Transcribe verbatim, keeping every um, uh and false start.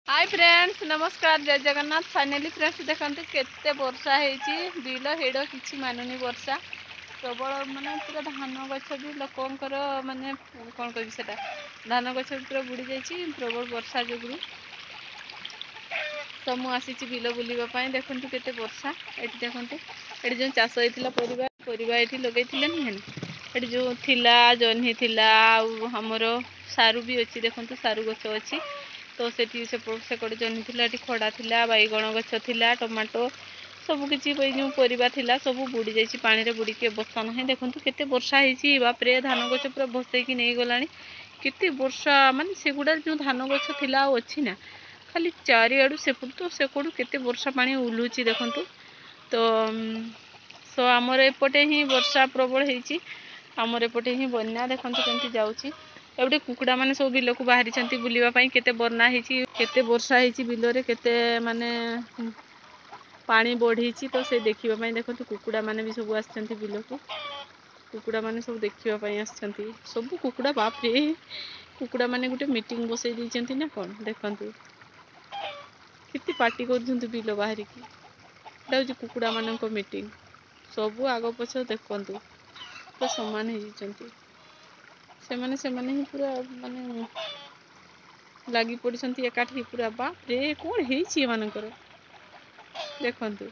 High friends, ନମସ୍କାର, ଜୟ Jagannath. Finally friends, ଦେଖନ୍ତୁ କେତେ ବର୍ଷା ହେଇଛି। ବିଲ ହେଡ଼ କିଛି ମାନୁନି, ବର୍ଷା ପ୍ରବଳ। ମାନେ ପୁରା ଧାନ ଗଛ ବି ଲୋକଙ୍କର, ମାନେ କ'ଣ କହିବି ସେଟା, ଧାନ ଗଛ ବି ପୁରା ବୁଡ଼ି ଯାଇଛି ପ୍ରବଳ ବର୍ଷା ଯୋଗୁରୁ। ତ ମୁଁ ଆସିଛି ବିଲ ବୁଲିବା ପାଇଁ। ଦେଖନ୍ତୁ କେତେ ବର୍ଷା ଏଠି। ଦେଖନ୍ତୁ ଏଠି ଯେଉଁ ଚାଷ ହେଇଥିଲା ପରିବା, ପରିବା ଏଠି ଲଗେଇଥିଲେ ନୁହେଁ? ଏଠି ଯେଉଁ ଥିଲା ଜହ୍ନି ଥିଲା, ଆଉ ଆମର ସାରୁ ବି ଅଛି। ଦେଖନ୍ତୁ ସାରୁ ଗଛ ଅଛି। ତ ସେଠି ସେକଡ଼େ ଜହ୍ନି ଥିଲା, ଏଠି ଖଡ଼ା ଥିଲା, ବାଇଗଣ ଗଛ ଥିଲା, ଟମାଟୋ, ସବୁ କିଛି ଏଇ ଯେଉଁ ପରିବା ଥିଲା ସବୁ ବୁଡ଼ି ଯାଇଛି ପାଣିରେ, ବୁଡ଼ିକି ଅବସ୍ଥା ନାହିଁ। ଦେଖନ୍ତୁ କେତେ ବର୍ଷା ହେଇଛି, ବାପରେ! ଧାନ ଗଛ ପୁରା ଭସେଇକି ନେଇଗଲାଣି। କେତେ ବର୍ଷା, ମାନେ ସେଗୁଡ଼ା ଯେଉଁ ଧାନ ଗଛ ଥିଲା ଆଉ ଅଛି ନା? ଖାଲି ଚାରିଆଡ଼ୁ ସେପଟୁ ତ ସେକଡ଼ୁ କେତେ ବର୍ଷା ପାଣି ଉଲୁଛି ଦେଖନ୍ତୁ। ତ ସୋ ଆମର ଏପଟେ ହିଁ ବର୍ଷା ପ୍ରବଳ ହେଇଛି, ଆମର ଏପଟେ ହିଁ ବନ୍ୟା। ଦେଖନ୍ତୁ କେମିତି ଯାଉଛି। ଏପଟେ କୁକୁଡ଼ାମାନେ ସବୁ ବିଲକୁ ବାହାରିଛନ୍ତି ବୁଲିବା ପାଇଁ। କେତେ ବନ୍ୟା ହେଇଛି, କେତେ ବର୍ଷା ହେଇଛି, ବିଲରେ କେତେ ମାନେ ପାଣି ବଢ଼ିଛି, ତ ସେ ଦେଖିବା ପାଇଁ ଦେଖନ୍ତୁ କୁକୁଡ଼ାମାନେ ବି ସବୁ ଆସିଛନ୍ତି ବିଲକୁ। କୁକୁଡ଼ାମାନେ ସବୁ ଦେଖିବା ପାଇଁ ଆସିଛନ୍ତି ସବୁ କୁକୁଡ଼ା। ବାପରେ, କୁକୁଡ଼ାମାନେ ଗୋଟେ ମିଟିଂ ବସେଇ ଦେଇଛନ୍ତି ନା କ'ଣ? ଦେଖନ୍ତୁ କେତେ ପାଟି କରୁଛନ୍ତି ବିଲ ବାହାରିକି। ଏଇଟା ହେଉଛି କୁକୁଡ଼ାମାନଙ୍କ ମିଟିଂ। ସବୁ ଆଗ ପଛ ଦେଖନ୍ତୁ ପୁରା ସମାନ ହେଇଯାଇଛନ୍ତି ସେମାନେ। ସେମାନେ ହିଁ ପୁରା ମାନେ ଲାଗି ପଡ଼ିଛନ୍ତି ଏକାଠି ପୁରା। ବାପରେ, କ'ଣ ହେଇଛି ଏମାନଙ୍କର ଦେଖନ୍ତୁ।